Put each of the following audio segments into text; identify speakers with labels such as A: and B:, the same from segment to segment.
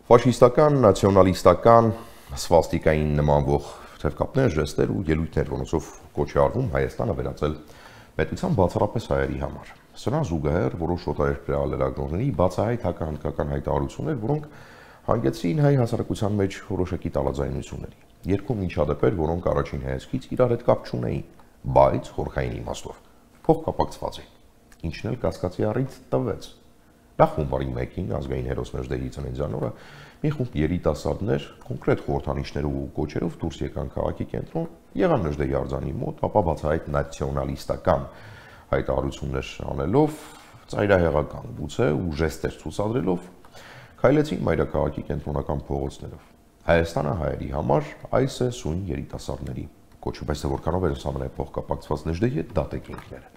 A: Ֆաշիստական, նացիոնալիստական, սվաստիկային նմանվող թևկապներ, ժեստեր ու ելույթներ, որոնցով կոչ է արվում Հայաստանը վերածել պետության բացառապես հայերի համար։ Սրան զուգահեռ որոշ օտարերկրյա լրագրողների բացահայտ հակահնդկական հայտարարություններ, որոնք հանգեցրին հայ հասարակության մեջ որոշակի տարաձայնությունների։ Երկու միջադեպեր, որոնք առաջին հայացքից իրար հետ կապ չունեին, բայց խորքային իմաստով փոխկապակցված էին, ինչն էլ կասկածի առիթ տվեց։ Նախ հունվարի 1-ին ազգային հերոսներ դեի ծննդյան օրը մի խումբ երիտասարդներ կոնկրետ խորհրդանիշներով ու կոչերով դուրս եկան քաղաքի կենտրոն, եղան Նժդեի արձանի մոտ, ապա բացահայտ նացիոնալիստական հայտարարություններ անելով, ծայրահեղական գուցե ու ժեստեր ցուցադրելով քայլեցին մայրաքաղաքի կենտրոնական փողոցներով։ Հայաստանը հայերի համար այս է սույն երիտասարդների կոչը, բայց թե որքանով էր ամենափոխկապակցված Նժդեի հետ դատեկինքները։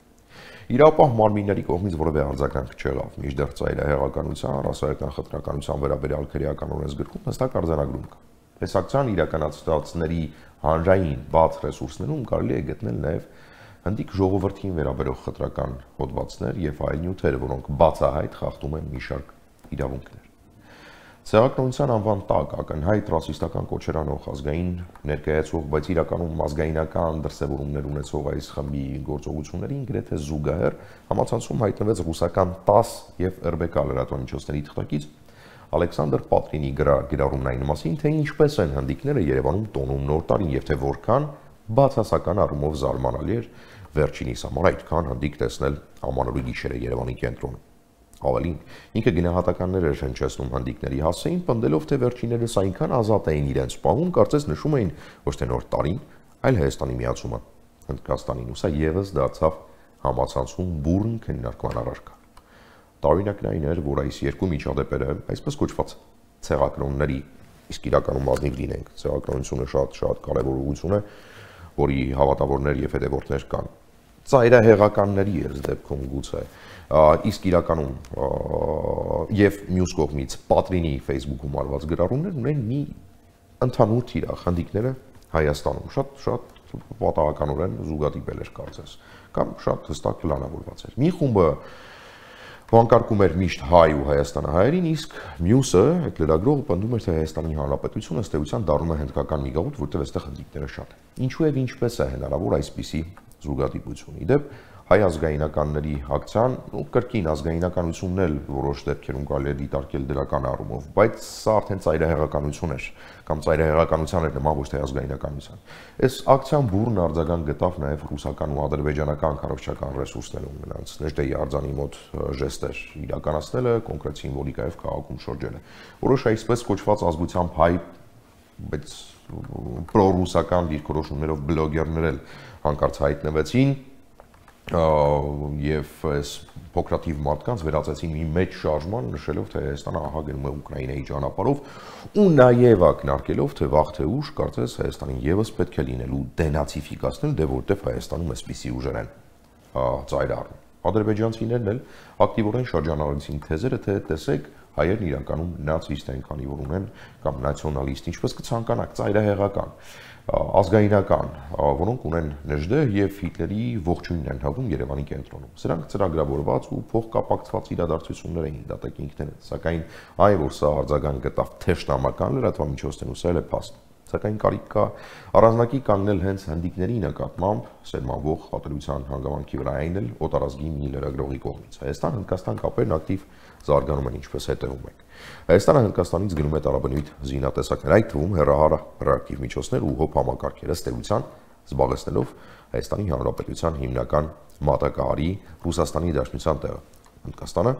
A: Իրապահ մարմինների կողմից որևէ արձագանք չեղավ, մինչդեռ ծայրահեղականության, ռասայական խտրականության վերաբերյալ քրեական օրենսգրքում հստակ արձանագրում կա։ Այս ակցիան իրականացվածների հանրային բաց ռեսուրսներում կարելի է գտնել նաև հնդիկ ժողովրդին վերաբերող խտրական հոդվածներ եւ այլ նյութեր, որոնք բացահայտ խախտում են մի շարք իրավունքներ։ Ցեղասպանության անվան տակ ակնհայտ ռասիստական կոչեր անող ազգային ներկայացող, բայց իրականում ազգայնական դրսևորումներ ունեցող այս խմբի գործողություններին գրեթե զուգահեռ համացանցում հայտնվեց ռուսական ՏԱՍՍ եւ ՌԲԿ լրատվամիջոցների թղթակից Ալեքսանդր Պատրինի գրառումն այն մասին, թե ինչպես են հնդիկները Երևանում տոնում նոր տարին եւ թե որքան բացասական առումով զարմանալի էր վերջինիս համար այդքան հնդիկ տեսնել ամանորի գիշերը Երևանի կենտրոնում։ Ավելին, ինքը գնահատականներ էր հնչեցնում հնդիկների հասցեին, պնդելով, թե վերջիններս այնքան ազատ էին իրենց պահում, կարծես նշում էին ոչ թե նոր տարին, այլ Հայաստանի միացումը Հնդկաստանին, ու սա եւս դարձավ համացանցում բուրըն քննարկման առարկա։ Տարօրինակն այն էր, որ այս երկու միջադեպերը, այսպես կոչված ցեղակրոնների, իսկ իրականում ազնիվ լինենք, ցեղակրոնությունը շատ կարևոր ուղղություն է, որի հավատավորներ եւ հետևորդներ կան։ Ծայրահեղականների այս դեպքում գուցե իսկ իրականում եւ մյուս կողմից Պատրինի Facebook-ում արված գրառումներն ունեն մի ընդհանուր թիրախ հնդիկները Հայաստանում շատ պատահականորեն զուգադիպել էր կարծես կամ շատ հստակ պլանավորված էր։ Մի խումբը վանկարկում էր միշտ հայ ու հայաստանահայերին, իսկ մյուսը այդ լրագրողը պնդում էր, թե Հայաստանի Հանրապետությունը ըստ էության դառնում է հնդկական մի գաղութ, որտեղ այստեղ հնդիկները շատ են։ Ինչու եւ ինչպես է հնարավոր այսպիսի զուգադիպություն։ Իդեպ հայ ազգայնականների ակցիան ու կրկին ազգայնականությունն էլ որոշ դեպքերում կարելի է դիտարկել դրական առումով, բայց սա արդեն ծայրահեղականություն էր կամ ծայրահեղականության էր նման ոչ թե ազգայնականության։ Այս ակցիան բուրըն արձագանք գտավ նաև ռուսական ու ադրբեջանական կառավարչական ռեսուրսներում նրանց Նժդեի արձանի մոտ ժեստեր իրականացնելը, կոնկրետ սիմվոլիկայով քաղաքում շրջելը։ Որոշ այսպես կոչված ազգությամբ հայ, բայց պրոռուսական դիրքորոշումներով բլոգերներ էլ հանկարծ հայտնվեցին եւ այս փոքրաթիվ մարդկանց վերածեցին մի մեծ շարժման, նշելով, թե Հայաստանը ահա գնում է Ուկրաինայի ճանապարհով ու նաեւ ակնարկելով, թե վաղ թե ուշ կարծես Հայաստանին եւս պետք է լինելու դենացիֆիկացնել, դե որտեվ Հայաստանում էսպիսի ուժեր են ծայր առնում։ Ադրբեջանցիներն էլ ակտիվորեն շրջանառեցին թեզերը, թե տեսեք հայերն իրականում նացիստ են, քանի որ ունեն կամ նացիոնալիստ, ինչպես կցանկանաք, ծայրահեղական, ազգայնական, որոնք ունեն Նժդե եւ Հիտլերի ողջույնն են հաղթում Երևանի կենտրոնում։ Սրանք ծրագրավորված ու փոխկապակցված իրադարձություններ էին դատեկինքները, սակայն այն որ սա արձագանք գտավ թեժնամական լրատվամիջոցներում, սա էլ է փաստ։ Սակայն կարիք կա առանձնակի կանգնել հենց հնդիկների նկատմամբ սերմանվող ատելության հանգամանքի վրա, այն էլ օտարազգի մի լրագրողի կողմից։ Հայաստան-Հնդկաստան կապերն ակտիվ զարգանում են, ինչպես հետևում եք։ Հայաստանը Հնդկաստանից գնում է տարաբնույթ զինատեսակներ, այդ թվում հեռահարակտիվ միջոցներ ու հոբ համակարգեր, ըստ էության զբաղեցնելով Հայաստանի Հանրապետության հիմնական մատակարարի Ռուսաստանի Դաշնության տեղը։ Հնդկաստանը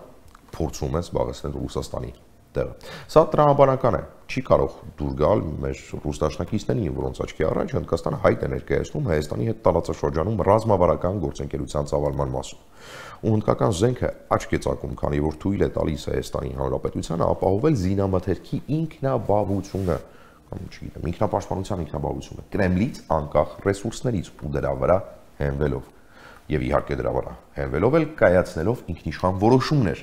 A: փորձում է զբաղեցնել Ռուսաստանի տեղը։ Սա տրամաբանական է, չի կարող դուր գալ մեր ռուս դաշնակիցներին, որոնց աչքի առաջ Հնդկաստանը հայտ է ներկայացնում Հայաստանի հետ տարածաշրջանում ռազմավարական գործընկերության ծավալման մասում։ Ու հնդկական զենքը աչք է ծակում, քանի որ թույլ է տալիս Հայաստանի Հանրապետությանը ապահովել զինամթերքի ինքնաբավությունը, կամ չգիտեմ, ինքնապաշտպանության ինքնաբավությունը Կրեմլից անկախ ռեսուրսներից ու դրա վրա հենվելով եւ իհարկե դրա վրա հենվելով էլ կայացնելով ինքնիշխան որոշումներ,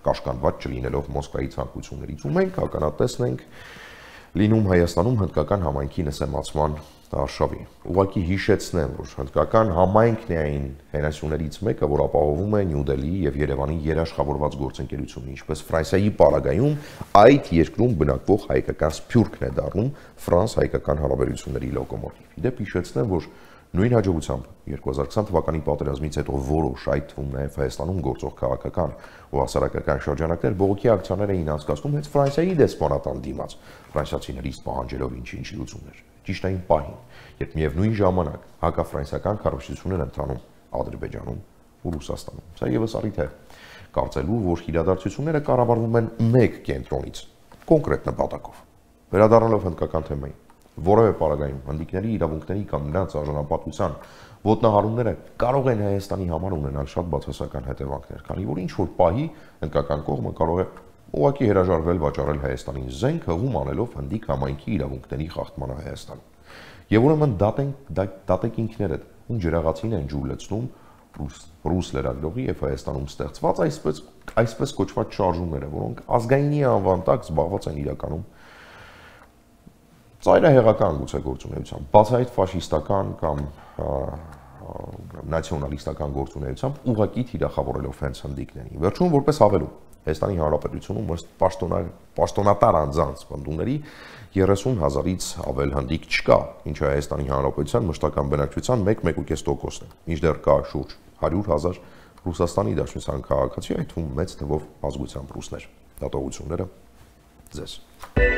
A: կաշկանդված չլինելով Մոսկվայի ցանկություններից, ու մենք ականատեսն ենք լինում Հայաստանում հնդկական համայնքի նսեմացման Արշավի։ Ուղղակի հիշեցնեմ, որ հնդկական համայնքն է այն հենասյուներից մեկը, որ ապահովում է Նյու Դելհիի եւ Երևանի երաշխավորված գործընկերությունը, ինչպես Ֆրանսիայի պարագայում այդ երկրում բնակվող հայկական սփյուռքն է դառնում ֆրանս-հայկական հարաբերությունների լոկոմոտիվ։ Իդեպ հիշեցնեմ, որ նույն հաջողությամբ 2020 թվականի պատերազմից հետո որոշ այդ թվում նաև Հայաստանում գործող քաղաքական ու հասարակական շրջանակներ բողոքի ակցիաներ էին անցկացնում հենց Ֆրանսիայի դեսպանատան դիմաց, ֆրանսիացիներից պահանջելով ինչ-ինչ լուծումներ։ Ճիշտ այն պահին, երբ միևնույն ժամանակ հակաֆրանսիական քարոզություններ են ընթանում Ադրբեջանում ու Ռուսաստանում։ Սա եւս առիթ է կարծելու, որ իրադարձությունները կառավարվում են մեկ կենտրոնից, կոնկրետ նպատակով։ Վերադառնալով հնդկական թեմային, որևէ պարագայում հնդիկների իրավունքների կամ նրանց արժանապատվության ոտնահարումները կարող են Հայաստանի համար ունենալ շատ բացասական հետևանքներ, քանի որ ինչ որ պահի հնդկական կողմը կարող է ուղղակի հրաժարվել վաճառել Հայաստանին զենք, հղում անելով հնդիկ համայնքի իրավունքների խախտմանը Հայաստանում։ Եվ ուրեմն դատեք ինքներդ, ում ջրաղացին են ջուր լցնում ռուս լրագրողի եւ Հայաստանում ստեղծված այսպես կոչված շարժումները, որոնք ազգայինի անվան տակ զբաղված են իրականում ծայրահեղական գուցե գործունեությամբ, բացահայտ ֆաշիստական կամ նացիոնալիստական գործունեությամբ ուղղակի թիրախավորելով հենց հնդիկներին։ Վերջում որպես հավելում, Հայաստանի Հանրապետությունում ըստ պաշտոնատար անձանց պնդումների 30,000-ից ավել հնդիկ չկա, ինչը Հայաստանի Հանրապետության մշտական բնակչության 1-1.5%-ն է, մինչդեռ կա շուրջ 100,000 Ռուսաստանի Դաշնության քաղաքացի, այդ թվում մեծ թվով ազգությամբ ռուսներ։ Դատողությունները ձեզ։